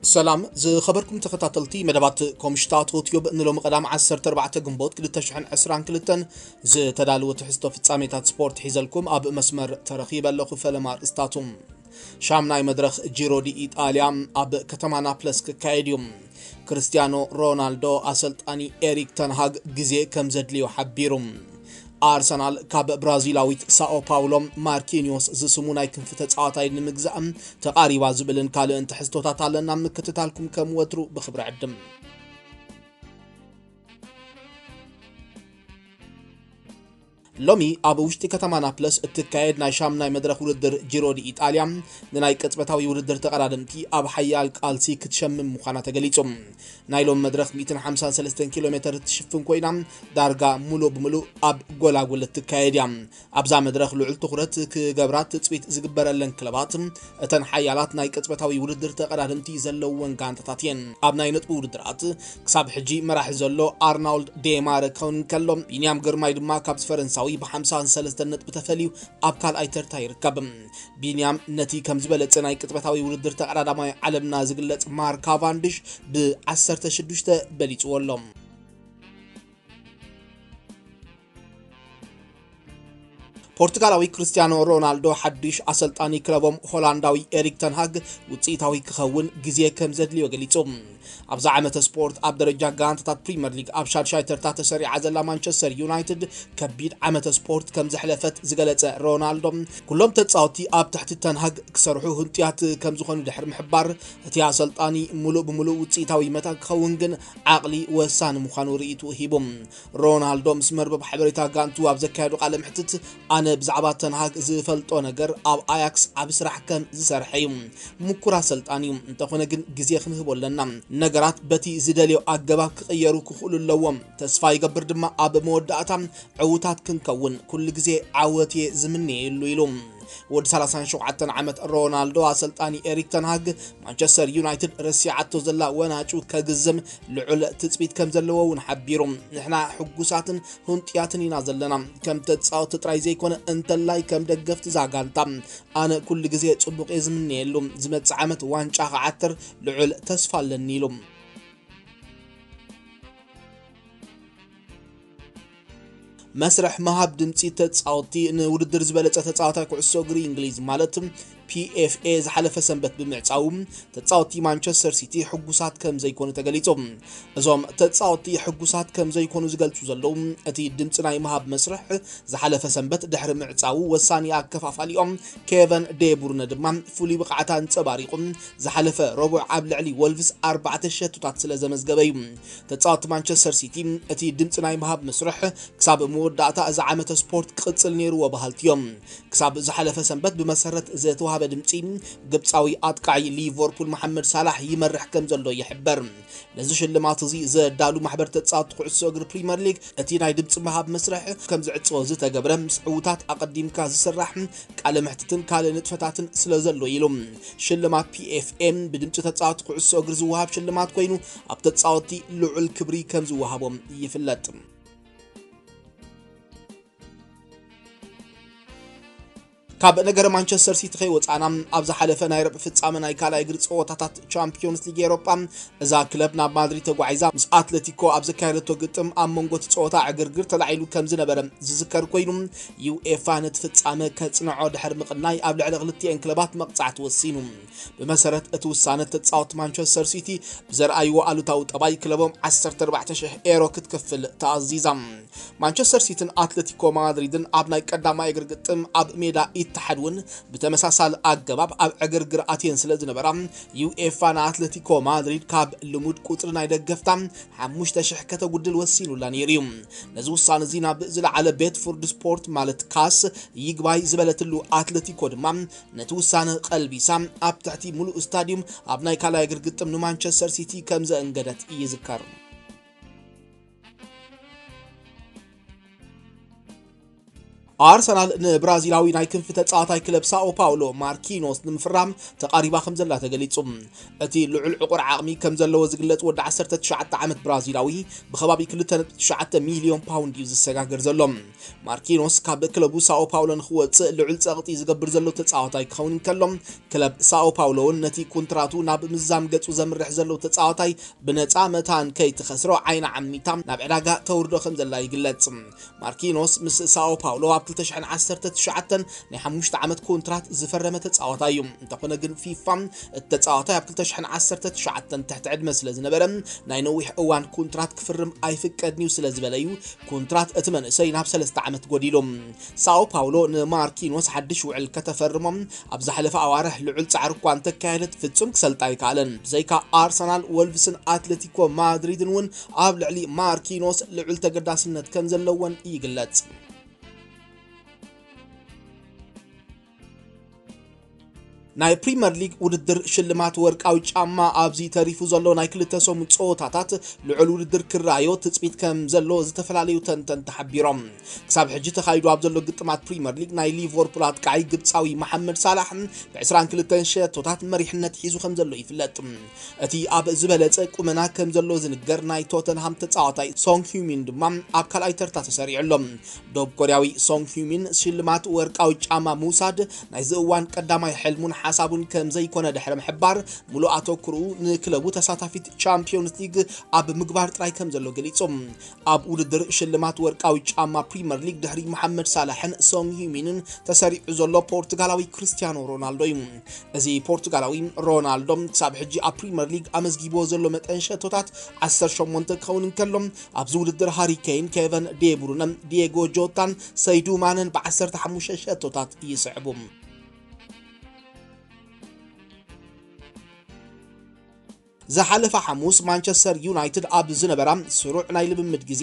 ሰላም ዝኸበርኩም ተኸታተልቲ መደባት ኮምሽታት ሆትዩብ፣ ንሎሚ ቀዳም ዓሰርተ ኣርባዕተ ግንቦት ክልተ ሽሕን ዕስራን ክልተን ዝተዳለወ ትሕዝቶ ፍጻሜታት ስፖርት ሒዘልኩም ኣብ መስመር ተረኺበ ኣለኹ። ፈለማ ኣርእስታቱ። ሻምናይ መድረኽ ጂሮ ዲ ኢጣልያ ኣብ ከተማ ናፕለስ ክካየድ እዩ። ክርስቲያኖ ሮናልዶ ኣሰልጣኒ ኤሪክ ተንሃግ ግዜ ከም ዘድልዮ ሓቢሩ። ኣርሰናል ካብ ብራዚላዊት ሳኦ ፓውሎ ማርኪኒዮስ ዝስሙ ናይ ክንፊ ተጻዋታይ ንምግዛእ ተቓሪባ ዝብልን ካልእን ትሕዝቶታት ኣለና። ምክትታልኩም ከም ወትሩ ብኽብሪ ዕድም። ሎሚ ኣብ ውሽጢ ከተማ ናፕለስ እትካየድ ናይ ሻምናይ መድረኽ ውድድር ጂሮ ዲ ኢጣልያ ንናይ ቅጽበታዊ ውድድር ተቐዳደምቲ ኣብ ሓያል ቃልሲ ክትሸምም ምዃና ተገሊጹ። ናይ ሎም መድረኽ ሚእትን ሓምሳን ሰለስተን ኪሎ ሜተር እትሽፍን ኮይና፣ ዳርጋ ሙሉእ ብምሉእ ኣብ ጎላጉል እትካየድ እያ። ኣብዛ መድረኽ ልዑል ትኹረት ክገብራ ትጽቢት ዝግበረለን ክለባት፣ እተን ሓያላት ናይ ቅጽበታዊ ውድድር ተቐዳደምቲ ዘለወን ጋንታታት እየን። ኣብ ናይ ነጥቢ ውድድራት ክሳብ ሕጂ መራሒ ዘሎ ኣርናውልድ ዴማረ ክኸውን ከሎ፣ ቢንያም ግርማይ ድማ ካብዚ ፈረንሳዊ ብ ሓምሳን ሰለስተን ነጥቢ ተፈልዩ ኣብ ካልኣይ ተርታ ይርከብ። ቢንያም ነቲ ከም ዝበለጸ ናይ ቅጽበታዊ ውድድር ተቐዳዳማይ ዓለምና ዝግለጽ ማርክ ካቫንድሽ ብ ዓሰርተ ሽዱሽተ በሊጽዎ ኣሎ። ፖርቱጋላዊ ክርስቲያኖ ሮናልዶ ሓድሽ ኣሰልጣኒ ክለቦም ሆላንዳዊ ኤሪክ ተንሃግ ውጽኢታዊ ክኸውን ግዜ ከም ዘድልዮ ገሊጹ። ኣብዛ ዓመተ ስፖርት ኣብ ደረጃ ጋንታታት ፕሪምየር ሊግ ኣብ ሻድሻይ ተርታ ተሰሪዓ ዘላ ማንቸስተር ዩናይትድ ከቢድ ዓመተ ስፖርት ከም ዘሕለፈት ዝገለጸ ሮናልዶ፣ ኩሎም ተጻወትቲ ኣብ ትሕቲ ተንሃግ ክሰርሑ ህንጡያት ከም ዝኾኑ ድሕሪ ምሕባር፣ እቲ ኣሰልጣኒ ሙሉእ ብሙሉእ ውጽኢታዊ መታን ክኸውን ግን ዓቕሊ ወሳኒ ምዃኑ ርእይትኡ ሂቡ። ሮናልዶ ምስ መርበብ ሓበሬታ ጋንቱ ኣብ ዘካየዶ ቃለ መሕትት፣ ኣነ ብዛዕባ ተንሃግ ዝፈልጦ ነገር ኣብ ኣያክስ ዓቢ ስራሕ ከም ዝሰርሐ እዩ። ምኩር ኣሰልጣኒ እዩ፣ እንተኾነ ግን ግዜ ክንህቦ ኣለና። ነገራት በቲ ዝደልዮ ኣገባብ ክቕየሩ ክኽእሉ ኣለዎም። ተስፋ ይገብር ድማ ኣብ መወዳእታ ዕዉታት ክንከውን። ኩሉ ግዜ ዓወት እየ ዝምነየሉ ኢሉ። ወዲ ሰላሳን ሸውዓተን ዓመት ሮናልዶ ኣሰልጣኒ ኤሪክ ተንሃግ ማንቸስተር ዩናይትድ ረሲዓቶ ዘላ ወናጩ ከግዝም ልዑል ትጽቢት ከም ዘለዎ እውን ሓቢሩ። ንሕና ሕጉሳትን ህንጡያትን ኢና ዘለና። ከም ተጻወቲ ጥራይ ዘይኮነ፣ እንተላይ ከም ደገፍቲ እዛ ጋንታ ኣነ ኩሉ ግዜ ጽቡቕ እየ ዝምነየሉ። ዝመጽእ ዓመት ዋንጫ ክዓትር ልዑል ተስፋ ኣለኒ ኢሉ። መስርሕ ምሃብ ድምጺ ተጻወቲ። ንውድድር ዝበለጸ ተጻዋታይ ኩዕሶ እግሪ እንግሊዝ ማለት ፒኤፍኤ ዝሓለፈ ሰንበት ብምዕጻዉ፣ ተጻወቲ ማንቸስተር ሲቲ ሕጉሳት ከም ዘይኮኑ ተገሊጹ። እዞም ተጻወቲ ሕጉሳት ከም ዘይኮኑ ዝገልጹ ዘለዉ፣ እቲ ድምጺ ናይ ምሃብ መስርሕ ዝሓለፈ ሰንበት ድሕሪ ምዕጻዉ፣ ወሳኒ ኣከፋፋሊኦም ኬቨን ዴቡርነ ድማ ፍሉይ ብቕዓት ኣንጸባሪቑ፣ ዝሓለፈ ረቡዕ ኣብ ልዕሊ ወልቭስ ኣርባዕተ ሸቶታት ስለ ዘመዝገበ እዩ። ተጻወቲ ማንቸስተር ሲቲ እቲ ድምጺ ናይ ምሃብ መስርሕ ክሳብ መወዳእታ እዚ ዓመተ ስፖርት ክቕጽል ነይርዎ በሃልቲ እዮም። ክሳብ ዝሓለፈ ሰንበት ብመሰረት ዝተዋህበ ድምጺ፣ ግብጻዊ ኣጥቃዒ ሊቨርፑል መሓመድ ሳላሕ ይመርሕ ከም ዘሎ ይሕበር። ነዚ ሽልማት እዚ ዘዳሉ ማሕበር ተጻወቲ ኩዕሶ እግሪ ፕሪምየር ሊግ፣ እቲ ናይ ድምጺ ምሃብ መስርሕ ከም ዝዕጸዎ ዝተገብረ፣ ምስ ዕዉታት ኣቐዲምካ ዝስራሕ ቃለ መሕትትን ካልእ ንጥፈታትን ስለ ዘሎ ኢሉ። ሽልማት ፒኤፍኤም ብድምጺ ተጻወቲ ኩዕሶ እግሪ ዝወሃብ ሽልማት ኮይኑ፣ ኣብ ተጻወቲ ልዑል ክብሪ ከም ዝወሃቦም ይፍለጥ። ካብ ነገረ ማንቸስተር ሲቲ ከይወጻና፣ ኣብ ዝሓለፈ ናይ ርብዒ ፍጻመ ናይ ካልኣይ እግሪ ጸወታታት ቻምፒዮንስ ሊግ ኤሮጳ፣ እዛ ክለብ ናብ ማድሪድ ተጓዒዛ ምስ ኣትለቲኮ ኣብ ዘካየደቶ ግጥም፣ ኣብ መንጎ እቲ ጸወታ ዕግርግር ተላዒሉ ከም ዝነበረ ዝዝከር ኮይኑ፣ ዩኤፋ ነቲ ፍጻመ ከጽንዖ ድሕሪ ምቕናይ፣ ኣብ ልዕሊ ክልቲኤን ክለባት መቕጻዕቲ ወሲኑ። ብመሰረት እቲ ውሳነ፣ ተጻወቲ ማንቸስተር ሲቲ ብዘርኣይዎ ኣሉታዊ ጠባይ፣ ክለቦም ዓሰርተ ኣርባዕተ ሽሕ ኤሮ ክትከፍል ተኣዚዛ። ማንቸስተር ሲቲን ኣትለቲኮ ማድሪድን ኣብ ናይ ቀዳማይ እግሪ ግጥም ኣብ ሜዳ ኢትሓድ እውን ብተመሳሳሊ ኣገባብ ኣብ ዕግርግር ኣትየን ስለ ዝነበራ፣ ዩኤፋ ንኣትለቲኮ ማድሪድ ካብ ልሙድ ቁጽሪ ናይ ደገፍታ ሓሙሽተ ሽሕ ከተጉድል ወሲኑላ ነይሩ እዩ። ነዚ ውሳነ እዚ ናብ ዝለዓለ ቤት ፍርዲ ስፖርት ማለት ካስ ይግባይ ዝበለትሉ ኣትለቲኮ ድማ ነቲ ውሳነ ቀልቢሳ ኣብ ትሕቲ ምሉእ ስታዲዩም ኣብ ናይ ካልኣይ እግሪ ግጥም ንማንቸስተር ሲቲ ከም ዘእንገደት ይዝከር። ኣርሰናል ንብራዚላዊ ናይ ክንፊ ተጻዋታይ ክለብ ሳኦ ፓውሎ ማርኪኖስ ንምፍራም ተቓሪባ ከም ዘላ ተገሊጹ። እቲ ልዑል ዕቑር ዓቕሚ ከም ዘለዎ ዝግለጽ ወዲ ዓሰርተ ትሽዓተ ዓመት ብራዚላዊ ብኸባቢ ክልተ ነጥቢ ትሽዓተ ሚልዮን ፓውንድ እዩ ዝሰጋገር ዘሎ። ማርኪኖስ ካብ ክለቡ ሳኦ ፓውሎ ንክወጽእ ልዑል ጸቕጢ ዝገብር ዘሎ ተጻዋታይ ክኸውን እንከሎ፣ ክለብ ሳኦ ፓውሎ እውን ነቲ ኮንትራቱ ናብ ምዛም ገጹ ዘምርሕ ዘሎ ተጻዋታይ ብነጻ መታን ከይትኸስሮ ዓይና ዓሚታ ናብ ዕዳጋ ተውርዶ ከም ዘላ ይግለጽ። ማርኪኖስ ምስ ሳኦ ፓውሎ ኣብ ክልተ ሽሕን ዓሰርተ ትሽዓተን ናይ ሓሙሽተ ዓመት ኮንትራት ዝፈረመ ተጻዋታይ እዩ። እንተኾነ ግን ፊፋ እቲ ተጻዋታይ ኣብ ክልተ ሽሕን ዓሰርተ ትሽዓተን ትሕቲ ዕድመ ስለ ዝነበረ ናይ ነዊሕ እዋን ኮንትራት ክፍርም ኣይፍቀድን እዩ ስለ ዝበለ እዩ ኮንትራት እቲ መንእሰይ ናብ ሰለስተ ዓመት ጎዲሉ። ሳኦ ፓውሎ ንማርኪኖስ ሓድሽ ውዕል ከተፈርሞ ኣብ ዝሓለፈ ኣዋርሕ ልዑል ጻዕሪ እኳ እንተካየደት ፍጹም ክሰልጣ ኣይከኣለን። ብዘይካ ኣርሰናል፣ ወልቭስን ኣትሌቲኮ ማድሪድን እውን ኣብ ልዕሊ ማርኪኖስ ልዑል ተገዳስነት ከም ዘለወን ይግለጽ። ናይ ፕሪምየር ሊግ ውድድር ሽልማት ወርቃዊ ጫማ ኣብዚ ተሪፉ ዘሎ ናይ ክልተ ሰሙን ጸወታታት ልዑል ውድድር ክረኣዮ ትጽቢት ከም ዘሎ ዝተፈላለዩ ተንተንቲ ሓቢሮም። ክሳብ ሕጂ ተኻይዱ ኣብ ዘሎ ግጥማት ፕሪምየር ሊግ ናይ ሊቨርፑል ኣጥቃዒ ግብጻዊ መሓመድ ሳላሕ ብ ዕስራን ክልተን ሸቶታት መሪሕነት ሒዙ ከም ዘሎ ይፍለጥ። እቲ ኣብ ዝበለጸ ቁመና ከም ዘሎ ዝንገር ናይ ቶተንሃም ተጻዋታይ ሶንግ ሂዩሚን ድማ ኣብ ካልኣይ ተርታ ተሰሪዑ ኣሎ። ደቡብ ኮርያዊ ሶንግ ሂዩሚን ሽልማት ወርቃዊ ጫማ ምውሳድ ናይዚ እዋን ቀዳማይ ሕልሙን ሓሳቡን ከም ዘይኮነ ድሕሪ ምሕባር፣ ሙሉእ ኣተኩርኡ ንክለቡ ተሳታፊት ቻምፒዮንስ ሊግ ኣብ ምግባር ጥራይ ከም ዘሎ ገሊጹ። ኣብ ውድድር ሽልማት ወርቃዊ ጫማ ፕሪምየር ሊግ ድሕሪ መሓመድ ሳላሕን ሶንግ ሂዩሚንን ተሰሪዑ ዘሎ ፖርቱጋላዊ ክርስቲያኖ ሮናልዶ እዩ። እዚ ፖርቱጋላዊ ሮናልዶ ክሳብ ሕጂ ኣብ ፕሪምየር ሊግ ኣመዝጊብዎ ዘሎ መጠን ሸቶታት ዓሰርተ ሸሞንተ ክኸውን እንከሎ፣ ኣብዚ ውድድር ሃሪ ኬን፣ ኬቨን ዴብሩነ፣ ዲየጎ ጆታን ሰይዱ ማነን ብ ዓሰርተ ሓሙሽተ ሸቶታት ይስዕቡ። ዝሓለፈ ሓሙስ ማንቸስተር ዩናይትድ ኣብ ዝነበራ ስሩዕ ናይ ልምምድ ግዜ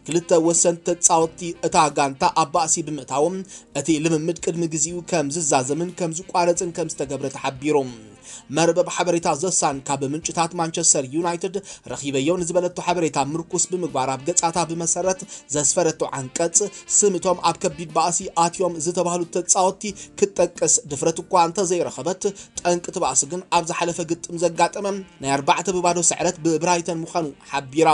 ክልተ ወሰንቲ ተጻወትቲ እታ ጋንታ ኣብ ባእሲ ብምእታዎም፣ እቲ ልምምድ ቅድሚ ግዜኡ ከም ዝዛዘምን ከም ዝቋረጽን ከም ዝተገብረ ተሓቢሩ። መርበብ ሓበሬታ ዘሳን ካብ ምንጭታት ማንቸስተር ዩናይትድ ረኺበዮ ንዝበለቶ ሓበሬታ ምርኩስ ብምግባር ኣብ ገጻታ ብመሰረት ዘስፈረቶ ዓንቀጽ ስም እቶም ኣብ ከቢድ ባእሲ ኣትዮም ዝተባህሉ ተጻወትቲ ክትጠቅስ ድፍረት እኳ እንተዘይረኸበት፣ ጠንቂ እቲ ባእሲ ግን ኣብ ዝሓለፈ ግጥም ዘጋጠመ ናይ ኣርባዕተ ብባዶ ስዕረት ብብራይተን ምዃኑ ሓቢራ።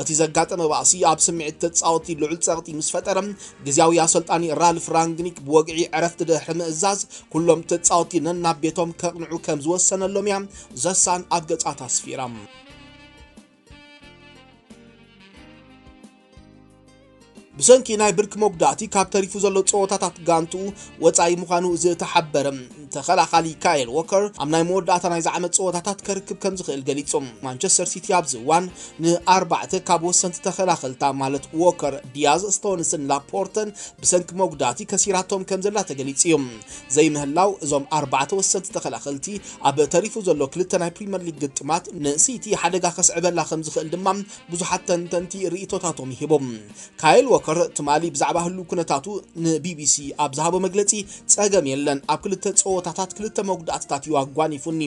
እቲ ዘጋጠመ ባእሲ ኣብ ስምዒት ተጻወትቲ ልዑል ጸቕጢ ምስ ፈጠረ፣ ግዝያዊ ኣሰልጣኒ ራልፍ ራንግኒክ ብወግዒ ዕረፍቲ ድሕሪ ምእዛዝ፣ ኩሎም ተጻወትቲ ነናብ ቤቶም ከቕንዑ ከም ዝወሰነሎም እያ ዘሳን ኣብ ገጻታ ኣስፊራ። ብሰንኪ ናይ ብርኪ መጉዳእቲ ካብ ተሪፉ ዘሎ ጸወታታት ጋንትኡ ወጻኢ ምዃኑ ዝተሓበረ ተኸላኻሊ ካይል ዎከር፣ ኣብ ናይ መወዳእታ ናይዚ ዓመት ጸወታታት ከርክብ ከም ዝኽእል ገሊጹ። ማንቸስተር ሲቲ ኣብዚ እዋን ንኣርባዕተ ካብ ወሰንቲ ተኸላኸልታ ማለት ዎከር፣ ዲያዝ፣ ስቶንስን ላፖርተን ብሰንኪ መጉዳእቲ ከሲራቶም ከም ዘላ ተገሊጹ እዩ። ዘይምህላው እዞም ኣርባዕተ ወሰንቲ ተኸላኸልቲ ኣብ ተሪፉ ዘሎ ክልተ ናይ ፕሪምየር ሊግ ግጥማት ንሲቲ ሓደጋ ከስዕበላ ከም ዝኽእል ድማ ብዙሓት ተንተንቲ ርእይቶታቶም ይህቦም። ካይል ዎከር ትማሊ ብዛዕባ ህሉው ኩነታቱ ንቢቢሲ ኣብ ዝሃቦ መግለጺ፣ "ጸገም የለን፣ ኣብ ክልተ ጸወታታት ክልተ መጉዳእትታት እዩ ኣጓኒፉኒ፣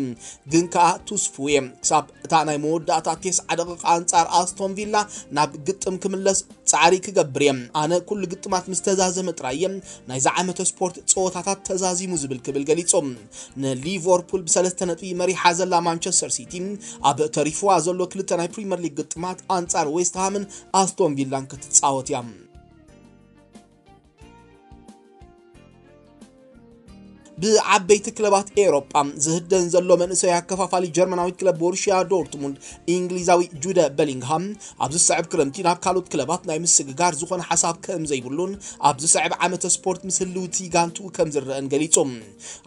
ግን ከኣ ትስፉው እየ። ክሳብ እታ ናይ መወዳእታ ቴስዓ ደቂቕ ኣንጻር ኣስቶን ቪላ ናብ ግጥም ክምለስ ጻዕሪ ክገብር እየ። ኣነ ኩሉ ግጥማት ምስ ተዛዘመ ጥራይ እየ ናይዚ ዓመተ ስፖርት ጸወታታት ተዛዚሙ ዝብል" ክብል ገሊጹ። ንሊቨርፑል ብሰለስተ ነጥቢ መሪሓ ዘላ ማንቸስተር ሲቲ ኣብ ተሪፍዋ ዘሎ ክልተ ናይ ፕሪምየር ሊግ ግጥማት ኣንጻር ዌስትሃምን ኣስቶን ቪላን ክትጻወት እያ። ብዓበይቲ ክለባት ኤውሮጳ ዝህደን ዘሎ መንእሰይ ኣከፋፋሊ ጀርመናዊ ክለብ ቦሩሽያ ዶርትሙንድ፣ እንግሊዛዊ ጁደ በሊንግሃም፣ ኣብ ዝስዕብ ክረምቲ ናብ ካልኦት ክለባት ናይ ምስግጋር ዝኾነ ሓሳብ ከም ዘይብሉን ኣብ ዝስዕብ ዓመተ ስፖርት ምስ ህልውቲ ጋንትኡ ከም ዝረአን ገሊጹ።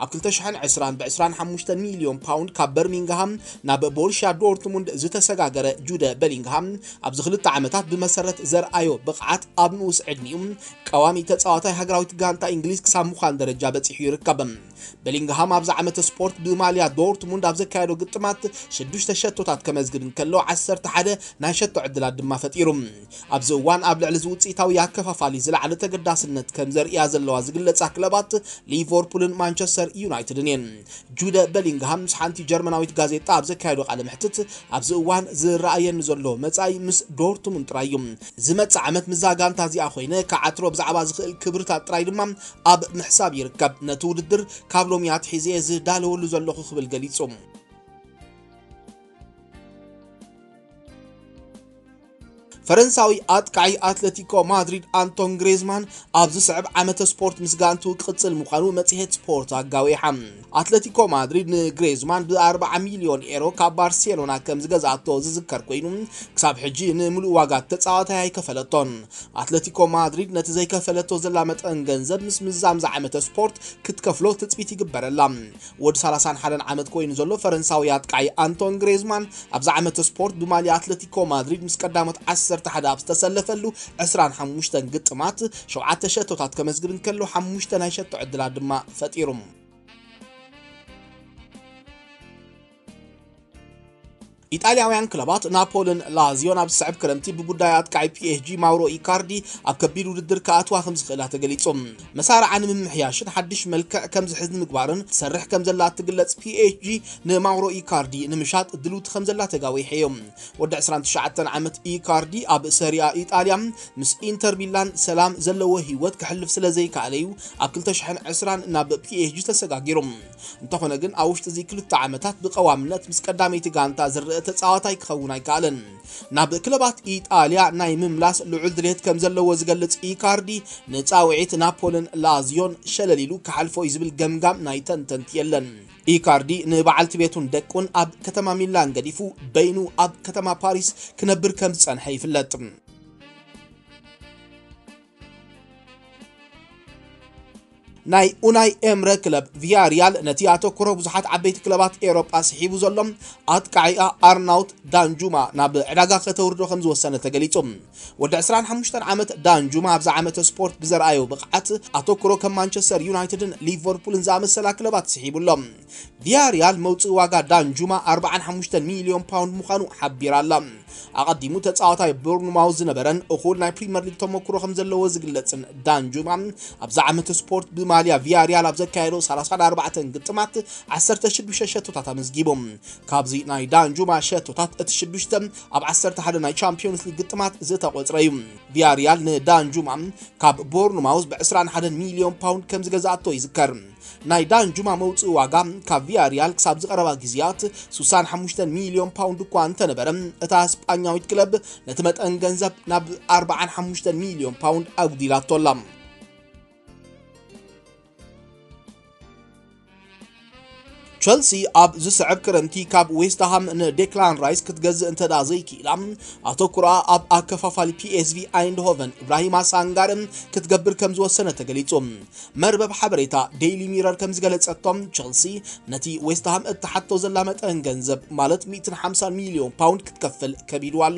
ኣብ ክልተ ሽሕን ዕስራን ብ ዕስራን ሓሙሽተ ሚልዮን ፓውንድ ካብ በርሚንግሃም ናብ ቦሩሽያ ዶርትሙንድ ዝተሰጋገረ ጁደ በሊንግሃም፣ ኣብዚ ክልተ ዓመታት ብመሰረት ዘርኣዮ ብቕዓት ኣብ ንኡስ ዕድሚኡ ቀዋሚ ተጻዋታይ ሃገራዊት ጋንታ እንግሊዝ ክሳብ ምዃን ደረጃ በጺሑ ይርከብ። በሊንግሃም ኣብዚ ዓመተ ስፖርት ብማልያ ዶርትሙንድ ኣብ ዘካየዶ ግጥማት ሽዱሽተ ሸቶታት ከመዝግብ እንከሎ፣ ዓሰርተ ሓደ ናይ ሸቶ ዕድላት ድማ ፈጢሩ። ኣብዚ እዋን ኣብ ልዕሊ እዚ ውጽኢታዊ ኣከፋፋሊ ዝለዓለ ተገዳስነት ከም ዘርእያ ዘለዋ ዝግለጻ ክለባት ሊቨርፑልን ማንቸስተር ዩናይትድን እየን። ጁደ በሊንግሃም ምስ ሓንቲ ጀርመናዊት ጋዜጣ ኣብ ዘካየዶ ቃለ መሕትት፣ ኣብዚ እዋን ዝረኣየኒ ዘሎ መጻኢ ምስ ዶርትሙንድ ጥራይ እዩ። ዝመጽእ ዓመት ምስዛ ጋንታ እዚኣ ኮይነ ክዓትሮ ብዛዕባ ዝኽእል ክብርታት ጥራይ ድማ ኣብ ምሕሳብ ይርከብ። ነቲ ውድድር ካብ ሎሚ ኣትሒዘ ዝዳለወሉ ዘለኹ ክብል ገሊጹ። ፈረንሳዊ ኣጥቃዒ ኣትለቲኮ ማድሪድ ኣንቶን ግሬዝማን ኣብ ዝስዕብ ዓመተ ስፖርት ምስ ጋንቱ ክቕጽል ምዃኑ መጽሔት ስፖርት ኣጋዊሓ። ኣትለቲኮ ማድሪድ ንግሬዝማን ብ ኣርብዓ ሚልዮን ኤሮ ካብ ባርሴሎና ከም ዝገዝኣቶ ዝዝከር ኮይኑ፣ ክሳብ ሕጂ ንምሉእ ዋጋ ተጻዋታይ ኣይከፈለቶን። ኣትለቲኮ ማድሪድ ነቲ ዘይከፈለቶ ዘላ መጠን ገንዘብ ምስ ምዛም ዝዓመተ ስፖርት ክትከፍሎ ትጽቢት ይግበረላ። ወዲ ሰላሳን ሓደን ዓመት ኮይኑ ዘሎ ፈረንሳዊ ኣጥቃዒ ኣንቶን ግሬዝማን ኣብዚ ዓመተ ስፖርት ብማልያ ኣትለቲኮ ማድሪድ ምስ ቀዳሞት ዓሰርተ ሓደ ኣብ ዝተሰለፈሉ ዕስራን ሓሙሽተን ግጥማት ሸውዓተ ሸቶታት ከመዝግብ እንከሎ፣ ሓሙሽተ ናይ ሸቶ ዕድላት ድማ ፈጢሩ። ኢጣልያውያን ክለባት ናፖልን ላዚዮን ኣብ ዝስዕብ ክረምቲ ብጉዳይ ኣጥቃዒ ፒ ኤስ ጂ ማውሮ ኢካርዲ ኣብ ከቢድ ውድድር ክኣትዋ ከም ዝኽእላ ተገሊጹ። መሳርዓ ንምምሕያሽን ሓድሽ መልክዕ ከም ዝሕዝ ንምግባርን ትሰርሕ ከም ዘላ እትግለጽ ፒ ኤስ ጂ ንማውሮ ኢካርዲ ንምሻጥ ድልውቲ ከም ዘላ ተጋዊሑ እዩ። ወዲ ዕስራን ትሽዓተን ዓመት ኢካርዲ ኣብ ሰሪኣ ኢጣልያ ምስ ኢንተር ሚላን ሰላም ዘለዎ ህይወት ክሕልፍ ስለ ዘይከኣለ እዩ ኣብ ክልተ ሽሕን ዕስራን ናብ ፒ ኤስ ጂ ተሰጋጊሩ። እንተኾነ ግን ኣብ ውሽጢ እዚ ክልተ ዓመታት ብቐዋምነት ምስ ቀዳመይቲ ጋንታ ዝረአ ተጻዋታይ ክኸውን ኣይከኣለን። ናብ ክለባት ኢጣልያ ናይ ምምላስ ልዑል ድሌት ከም ዘለዎ ዝገልጽ ኢካርዲ፣ ንጻውዒት ናፖልን ላዚዮን ሸለል ኢሉ ክሓልፎ እዩ ዝብል ገምጋም ናይ ተንተንቲ የለን። ኢካርዲ ንበዓልቲ ቤቱን ደቁን ኣብ ከተማ ሚላን ገዲፉ በይኑ ኣብ ከተማ ፓሪስ ክነብር ከም ዝጸንሐ ይፍለጥ። ናይ ኡናይ ኤምረ ክለብ ቪያሪያል ነቲ ኣተኩሮ ብዙሓት ዓበይቲ ክለባት ኤውሮጳ ስሒቡ ዘሎ ኣጥቃዒኣ ኣርናውት ዳንጁማ ናብ ዕዳጋ ከተውርዶ ከም ዝወሰነ ተገሊጹ። ወዲ ዕስራን ሓሙሽተን ዓመት ዳንጁማ ኣብዚ ዓመተ ስፖርት ብዘርኣዮ ብቕዓት ኣተኩሮ ከም ማንቸስተር ዩናይትድን ሊቨርፑልን ዝኣመሰላ ክለባት ስሒቡ ኣሎ። ቪያሪያል መውጽኢ ዋጋ ዳንጁማ ኣርብዓን ሓሙሽተን ሚልዮን ፓውንድ ምዃኑ ሓቢራ ኣላ። ኣቐዲሙ ተጻዋታይ ቦርንማውዝ ዝነበረን እኹል ናይ ፕሪምየር ሊግ ተመክሮ ከም ዘለዎ ዝግለጽን ዳንጁማ ኣብዚ ዓመት ስፖርት ብማልያ ቪያሪያል ኣብ ዘካየዶ ሰላሳን ኣርባዕተን ግጥማት ዓሰርተ ሽዱሽተ ሸቶታት ኣመዝጊቡ። ካብዚ ናይ ዳንጁማ ሸቶታት እቲ ሽዱሽተ ኣብ ዓሰርተ ሓደ ናይ ቻምፒዮንስ ሊግ ግጥማት ዝተቖጽረ እዩ። ቪያሪያል ንዳንጁማ ካብ ቦርንማውዝ ብ ዕስራን ሓደን ሚልዮን ፓውንድ ከም ዝገዝኣቶ ይዝከር። ናይ ዳንጁማ መውጽኢ ዋጋ ካብ ቪያሪያል ክሳብ ዝቐረባ ግዜያት ስሳን ሓሙሽተን ሚልዮን ፓውንድ እኳ እንተነበረ፣ እታ ስጳኛዊት ክለብ ነቲ መጠን ገንዘብ ናብ ኣርባዓን ሓሙሽተን ሚልዮን ፓውንድ ኣጉዲላቶ ኣላ። ቸልሲ ኣብ ዝስዕብ ክረምቲ ካብ ዌስትሃም ንዴክላን ራይስ ክትገዝእ እንተ ደኣ ዘይክኢላ፣ ኣተኩሮኣ ኣብ ኣከፋፋሊ ፒ ኤስ ቪ ኣይንድሆቨን ኢብራሂማ ሳንጋረ ክትገብር ከም ዝወሰነ ተገሊጹ። መርበብ ሓበሬታ ዴይሊ ሚረር ከም ዝገለጸቶ፣ ቸልሲ ነቲ ዌስትሃም እትሓቶ ዘላ መጠን ገንዘብ፣ ማለት ሚእትን ሓምሳን ሚልዮን ፓውንድ ክትከፍል ከቢድዋ ኣሎ።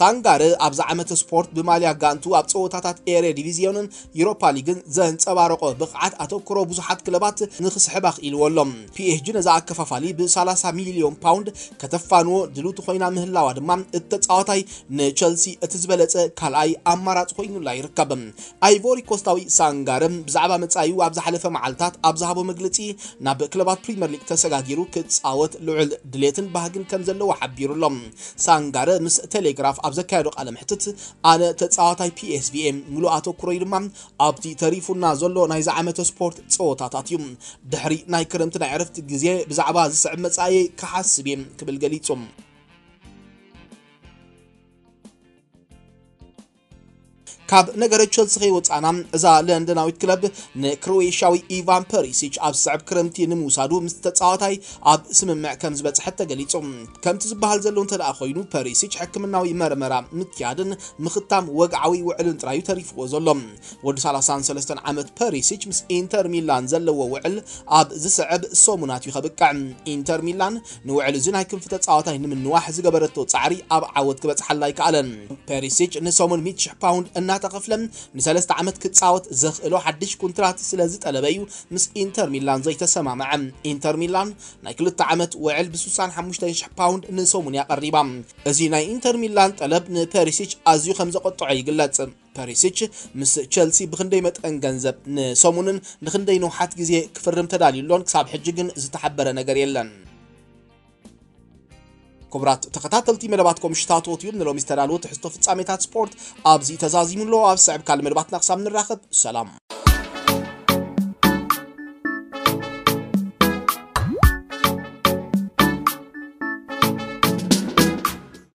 ሳንጋረ ኣብዚ ዓመት ስፖርት ብማልያ ጋንቱ ኣብ ጸወታታት ኤሬ ዲቪዝዮንን ዩሮፓ ሊግን ዘንጸባረቆ ብቕዓት ኣተኩሮ ብዙሓት ክለባት ንኽስሕብ ኣኽኢልዎ ኣሎ። ፒ ኤስ ጂ ነዛ ኣከፋፋሊ ብ ሰላሳ ሚልዮን ፓውንድ ከተፋንዎ ድልውቲ ኮይና ምህላዋ ድማ፣ እቲ ተጻዋታይ ንቸልሲ እቲ ዝበለጸ ካልኣይ ኣማራጺ ኮይኑላ ይርከብ። ኣይቮሪ ኮስታዊ ሳንጋረ ብዛዕባ መጻኢኡ ኣብ ዝሓለፈ መዓልታት ኣብ ዝሃቦ መግለጺ፣ ናብ ክለባት ፕሪምየር ሊግ ተሰጋጊሩ ክጻወት ልዑል ድሌትን ባህግን ከም ዘለዎ ሓቢሩ ኣሎ። ሳንጋረ ምስ ቴሌግራፍ ኣብ ዘካየዶ ቃለ መሕትት፣ ኣነ ተጻዋታይ ፒ ኤስ ቪ እየ፣ ምሉእ ኣተኩሮይ ድማ ኣብቲ ተሪፉና ዘሎ ናይዚ ዓመተ ስፖርት ጸወታታት እዩ። ድሕሪ ናይ ክረምቲ ናይ ዕረፍቲ ግዜ ብዛዕባ ዝስዕብ መጻኢየይ ክሓስብ እየ ክብል ገሊጹ። ካብ ነገረ ቸልሲ ከይወጻና፣ እዛ ለንደናዊት ክለብ ንክሮኤሽያዊ ኢቫን ፐሪሲች ኣብ ዝስዕብ ክረምቲ ንምውሳዱ ምስ ተጻዋታይ ኣብ ስምምዕ ከም ዝበጽሐት ተገሊጹ። ከምቲ ዝበሃል ዘሎ እንተ ደኣ ኮይኑ፣ ፐሪሲች ሕክምናዊ መርመራ ምክያድን ምኽታም ወግዓዊ ውዕልን ጥራዩ ተሪፍዎ ዘሎ። ወዲ ሰላሳን ሰለስተን ዓመት ፐሪሲች ምስ ኢንተር ሚላን ዘለዎ ውዕል ኣብ ዝስዕብ ሰሙናት እዩ ከብቅዕ። ኢንተር ሚላን ንውዕል እዚ ናይ ክንፊ ተጻዋታይ ንምንዋሕ ዝገበረቶ ጻዕሪ ኣብ ዓወት ክበጽሓላ ኣይከኣለን። ፐሪሲች ንሰሙን ሚእቲ ሽሕ ፓውንድ እና ተኸፍለ ንሰለስተ ዓመት ክጻወት ዘኽእሎ ሓድሽ ኮንትራት ስለ ዝጠለበ እዩ ምስ ኢንተር ሚላን ዘይተሰማምዐ። ኢንተር ሚላን ናይ ክልተ ዓመት ውዕል ብ65,000 ፓውንድ ንሰሙን ያቐሪባ። እዚ ናይ ኢንተር ሚላን ጠለብ ንፐሪሲች ኣዝዩ ከም ዘቆጥዖ ይግለጽ። ፐሪሲች ምስ ቸልሲ ብክንደይ መጠን ገንዘብ ንሰሙንን ንክንደይ ንውሓት ግዜ ክፍርም ተዳልዩ ኣሎን ክሳብ ሕጂ ግን ዝተሓበረ ነገር የለን። ክቡራት ተኸታተልቲ መደባት ኮምሽታቶት እዩ ንሎሚ ዝተዳለወ ትሕዝቶ ፍጻሜታት ስፖርት ኣብዚ ተዛዚሙ ኣሎ። ኣብ ስዕብ ካልእ መደባትና ክሳብ ንራኸብ ሰላም።